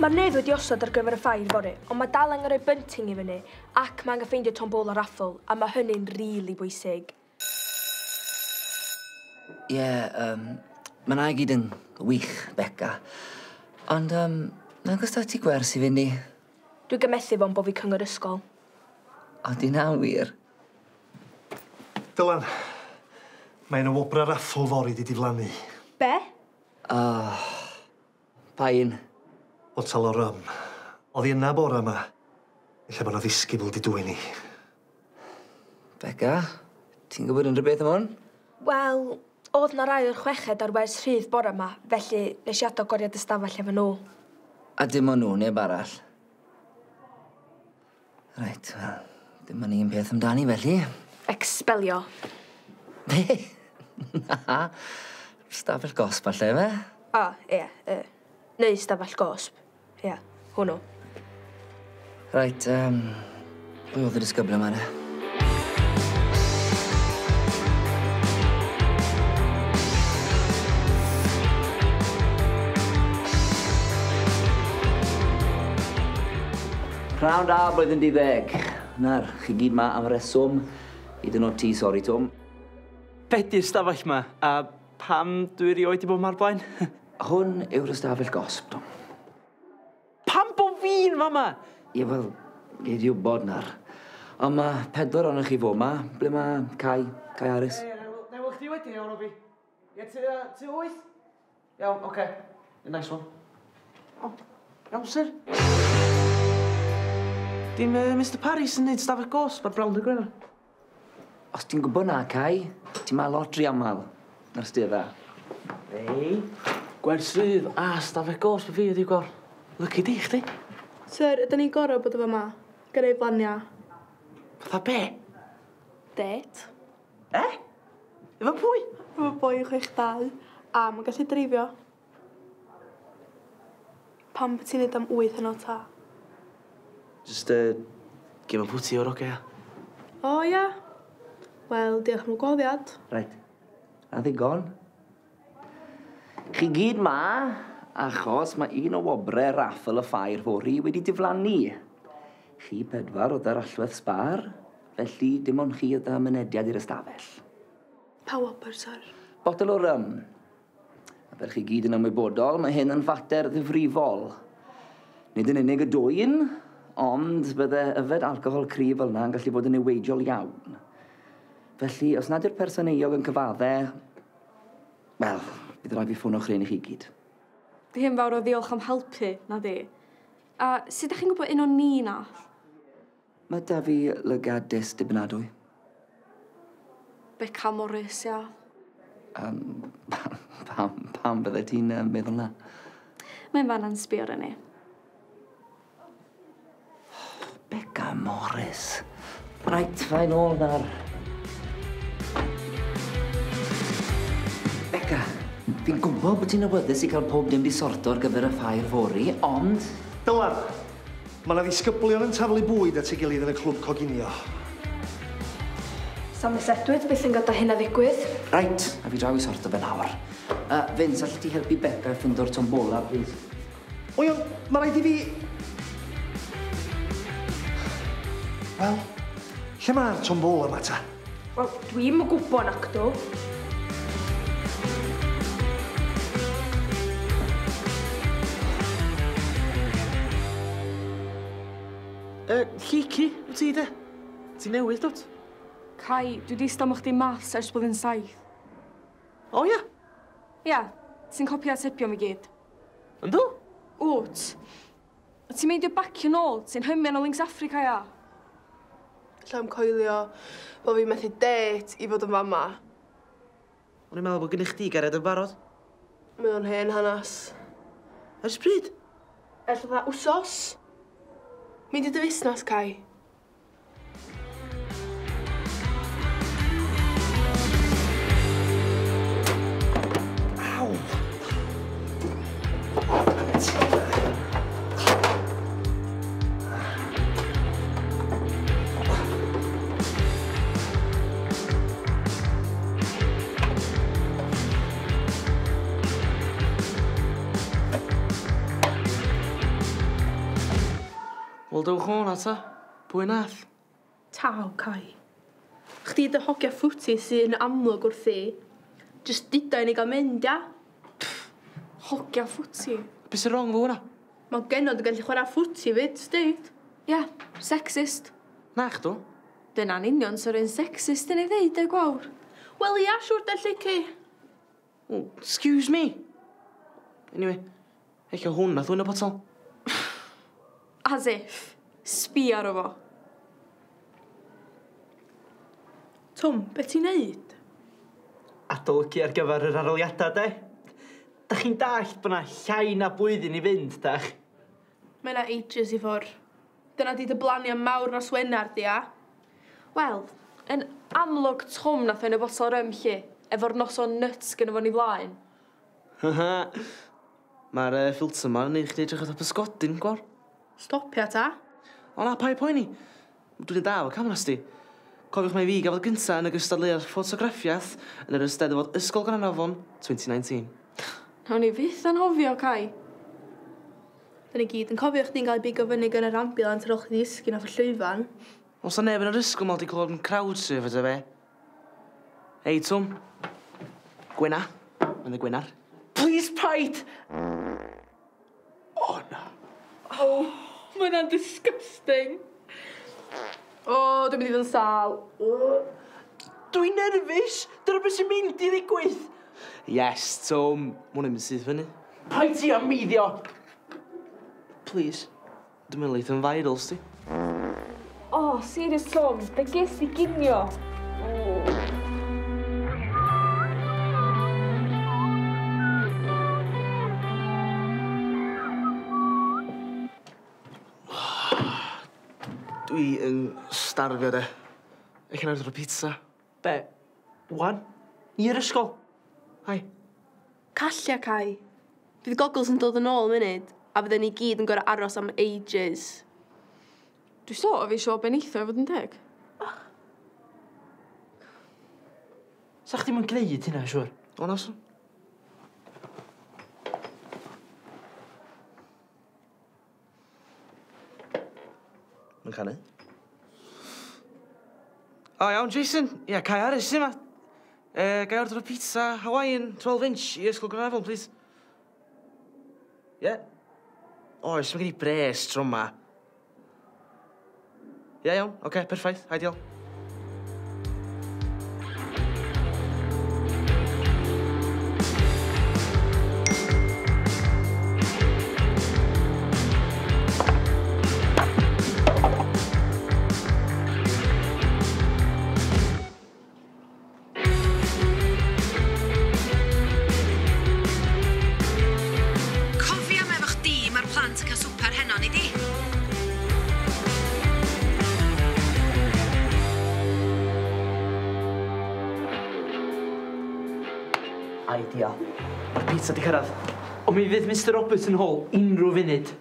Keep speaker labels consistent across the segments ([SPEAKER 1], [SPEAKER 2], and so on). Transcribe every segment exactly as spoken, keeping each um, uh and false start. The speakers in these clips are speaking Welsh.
[SPEAKER 1] Mae'r nedd wedi osod ar gyfer y ffair fory, ond mae dal angen rhoi bunting i fyny, ac mae angen ffeindio tombola raffle, a mae hynny'n rili bwysig.
[SPEAKER 2] Ie, yeah, um, mae na i gyd yn wych, Beca. Ond, um, nag oes da ti gwers i fynd i?
[SPEAKER 1] Dwi'n gymethu fo'n bo fi cyngor ysgol.
[SPEAKER 2] O, di na wir?
[SPEAKER 3] Dylan, mae yna wobra raffle fory di diflannu.
[SPEAKER 1] Be?
[SPEAKER 2] Oh, pa un?
[SPEAKER 3] Botel o rum. Oedd hi yna bora yma. Ella bod 'na ddisgybl di dwyn i.
[SPEAKER 2] Beca, ti'n gwybod unrhyw beth am hwn?
[SPEAKER 1] Wel, oedd na rai o'r chweched ar wers rhydd bora yma, felly nes i adael goriad ystafell efo nhw.
[SPEAKER 2] A dim ond nhw, neb arall? Reit, wel, dim ond un peth amdani felly.
[SPEAKER 1] Expelio.
[SPEAKER 2] Be? Na, stafell gosb falle, fe?
[SPEAKER 1] O, ie, ie. Neu stafell gosb. Ie, hwnnw.
[SPEAKER 2] Reit, um, pwy oedd y disgybl yma, ne? Prynhawn da, blwyddyn deuddeg. Nawr, chi gyd ma am reswm. Hyd yn oed ti, sori, Twm.
[SPEAKER 4] Be di'r stafell ma, a pam dwi erioed di bod ma'r blaen?
[SPEAKER 2] Hwn yw'r ystafell gosb, Twm.
[SPEAKER 4] Pam bo fi'n fama?
[SPEAKER 2] Ie, wel, gei di wybod nawr. Ond mae pedwar ohonoch chi fo' ma. Ble mae Cai, Cai Harris?
[SPEAKER 5] Ie, na i weld chdi wedyn, iawn, Obi. Ie, ti, ti wyth? Iawn, oce. Nice one. O, iawn, sir. Dim uh, Mister Parry sy'n neud stafell gosb ar Brown dy Gwener.
[SPEAKER 2] Os ti'n gwybod na, Cai, ti'n ma lot rhy aml na'r stedda.
[SPEAKER 5] Ei, gwers rhydd a stafell gosb fi ydi gwar. Lucky di, chdi.
[SPEAKER 6] Sir, ydyn ni'n gorau bod efo yma? Gyda'i blania.
[SPEAKER 5] Fatha be?
[SPEAKER 6] Det.
[SPEAKER 5] E? Efo pwy?
[SPEAKER 6] Efo boi chwech dau, a mae'n gallu dreifio. Pam bod ti'n neud am wyth yn o ta?
[SPEAKER 5] Just, uh, give a pwti o'r oce, ia.
[SPEAKER 6] O, ia. Wel, diolch am y gwahoddiad.
[SPEAKER 2] Reit. A ddigon. Chi gyd ma, achos mae un o wobre raffl y ffair fory wedi diflannu. Chi pedwar oedd ar allwedd sbar, felly dim ond chi oedd â mynediad i'r ystafell.
[SPEAKER 6] Pa wobr, sir?
[SPEAKER 2] Botel o rum. A fel chi gyd yn ymwybodol, mae hyn yn fater ddifrifol. Nid yn unig y dwyn, ond bydde yfed alcohol cryf fel yna yn gallu bod yn niweidiol iawn. Felly, os nad yw'r person euog yn cyfadde, wel, bydd rhaid fi ffono chryn i chi gyd.
[SPEAKER 7] Dim fawr o ddiolch am helpu, na di. A sut ydych chi'n gwybod un o ni nath?
[SPEAKER 2] Mae da fi lygad dys dibynadwy.
[SPEAKER 7] Beca Morris, ia.
[SPEAKER 2] Um, pam, pam, pam bydde ti'n uh, meddwl na?
[SPEAKER 7] Mae'n fanna'n sbio ar ni.
[SPEAKER 2] Beca Morris. Reit, fain ôl nawr. Beca, fi'n gwybod bod ti'n awyddus i cael pob dim di sorto ar gyfer y ffair fory, ond...
[SPEAKER 3] Dylan, mae yna ddisgyblion yn taflu bwyd at ei gilydd yn y clwb coginio.
[SPEAKER 1] Sa Miss Edwards byth yn gadael hynna ddigwydd.
[SPEAKER 2] Reit, a fi draw i sorto fe nawr. Uh, Vince, allet ti helpu Beca i ffindo'r tombola, please?
[SPEAKER 3] O iawn, mae rhaid i fi... Wel, lle mae'r tombola yma ta?
[SPEAKER 1] Wel, dwi'm yn gwybod nacdw.
[SPEAKER 5] Uh, Lleucu, wyt ti de? Ti'n newydd, dwt?
[SPEAKER 7] Cai, dwi di stamach chdi maths ers blwyddyn saith.
[SPEAKER 5] O, ia?
[SPEAKER 7] Ia, ti'n copio a tipio mi gyd.
[SPEAKER 5] Yndw?
[SPEAKER 7] Wt. A ti'n meindio bacio nôl, ti'n hymian o Links Africa, ia?
[SPEAKER 6] Lle am coelio bod fi'n methu date i fod yn fama.
[SPEAKER 5] O'n i'n meddwl bod gennych chdi gariad yn barod.
[SPEAKER 6] Mae o'n hen hanas.
[SPEAKER 5] Ers pryd?
[SPEAKER 6] Ers fatha wsos. Mynd i dy fusnes, Cai.
[SPEAKER 3] Aw!
[SPEAKER 5] Wel, dewch o'n ta. Pwy nath?
[SPEAKER 6] Taw, Cai. Chdi dy hogia ffwti sy'n amlwg wrthi. Just duda i ni gael mynd, ia?
[SPEAKER 7] Hogia ffwti?
[SPEAKER 5] Be sy'n wrong fo hwnna?
[SPEAKER 6] Mae genod yn gallu chwarae ffwti fyd, sdeud.
[SPEAKER 7] Ia, sexist.
[SPEAKER 5] Na chdw.
[SPEAKER 7] Dyna'n union sy'r un sexist yn ei ddeud, e gwawr.
[SPEAKER 6] Wel, ia, siwr de lleci.
[SPEAKER 5] Oh, excuse me. Anyway, ella hwn nath hwn y botol.
[SPEAKER 7] As if. Sbia ar o fo.
[SPEAKER 6] Twm, be ti'n neud?
[SPEAKER 4] Adolygu ar gyfer yr arholiadau, de. Da chi'n dallt bod 'na llai na blwyddyn i fynd, dach?
[SPEAKER 6] Mae 'na ages i ffwr. Dyna di dy blaniau mawr nos Wener, di, a?
[SPEAKER 7] Wel, yn amlwg Twm nath yn y botol rym lle, efo'r noson nuts gynno fo ni flaen.
[SPEAKER 5] Mae'r uh, ffilter yma yn neud chdi edrych fatha pysgodyn, gwar.
[SPEAKER 6] Stopia ta.
[SPEAKER 5] O na, paid poeni. Dwi'n da efo cameras di. Cofiwch mai fi gafodd gynta yn y gystadleuaeth ffotograffiaeth yn yr Eisteddfod Ysgol Gaernarfon twenty nineteen.
[SPEAKER 7] Nawn ni fyth anghofio, Cai.
[SPEAKER 6] Da ni gyd yn cofio chdi'n cael ei bigo fyny gan yr ambulance ar ôl chdi ddisgyn off y llwyfan.
[SPEAKER 5] Oes 'na neb yn yr ysgol 'ma 'di clywed am crowd surfer ta be? Hei, Twm. Gwena. Mae'n y Gwenar.
[SPEAKER 4] Please paid! O, na.
[SPEAKER 6] Oh, mae hwnna'n disgusting. O, oh, dwi'n mynd i fod yn sâl. Oh.
[SPEAKER 4] Dwi'n nerfus. Dyna beth sy'n mynd i ddigwydd.
[SPEAKER 5] Yes, Twm. Ma' hwnna'n mynd syth fyny.
[SPEAKER 4] Paid ti am meiddio.
[SPEAKER 5] Please. Dwi'n mynd leith yn viral, sti.
[SPEAKER 7] Oh, serious, Twm. Be ges i ginio? Oh.
[SPEAKER 5] Dwi yn starfio, de. Ella na order o pizza.
[SPEAKER 4] Be? Wan? I'r ysgol?
[SPEAKER 5] Hai.
[SPEAKER 6] Callia, Cai. Fydd goggles yn dod yn ôl munud, a fydden ni gyd yn gorfod aros am ages.
[SPEAKER 7] Dwi sort of isio beneitho i fod yn deg.
[SPEAKER 4] Oh. Sa chdi'm yn gwneud hynna, siwr?
[SPEAKER 5] O, na, swn. Mae'n canu. O, iawn, Jason. Ia, Cai Harris yma. E, gai order o pizza Hawaiian twelve inch i Ysgol Gaernarfon, please. Ie? Yeah. Oes, mae gen i bres tro yma. Ie, iawn. Oce, okay, perffaith. Ideal.
[SPEAKER 8] Cofia am efo chdi, mae'r plant yn cael swper heno, nei di?
[SPEAKER 4] Ideal. Mae'r pizza di cyrraedd. Ond mi fydd Mister Roberts yn hôl unrhyw funud.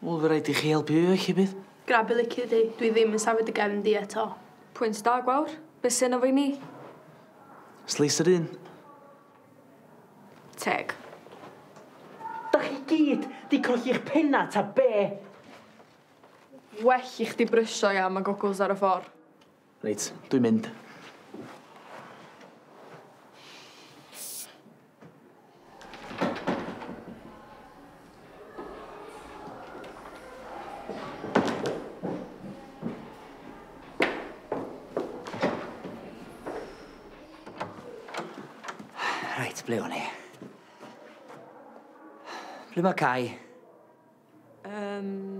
[SPEAKER 5] Wel, fe rhaid i chi helpu fi felly bydd.
[SPEAKER 6] Grab y licio di. Dwi ddim yn safod y gefn di eto.
[SPEAKER 7] Pwynt da, Gwawr. Be sy'n efo i ni?
[SPEAKER 5] Slice yr un.
[SPEAKER 7] Teg.
[SPEAKER 4] Da chi gyd di colli'ch penna ta be?
[SPEAKER 7] Well i chdi brysio, ia, mae goggles ar y ffordd.
[SPEAKER 5] Reit, dwi'n mynd.
[SPEAKER 2] Reit, ble o'n i? Ble mae Cai?
[SPEAKER 7] Um,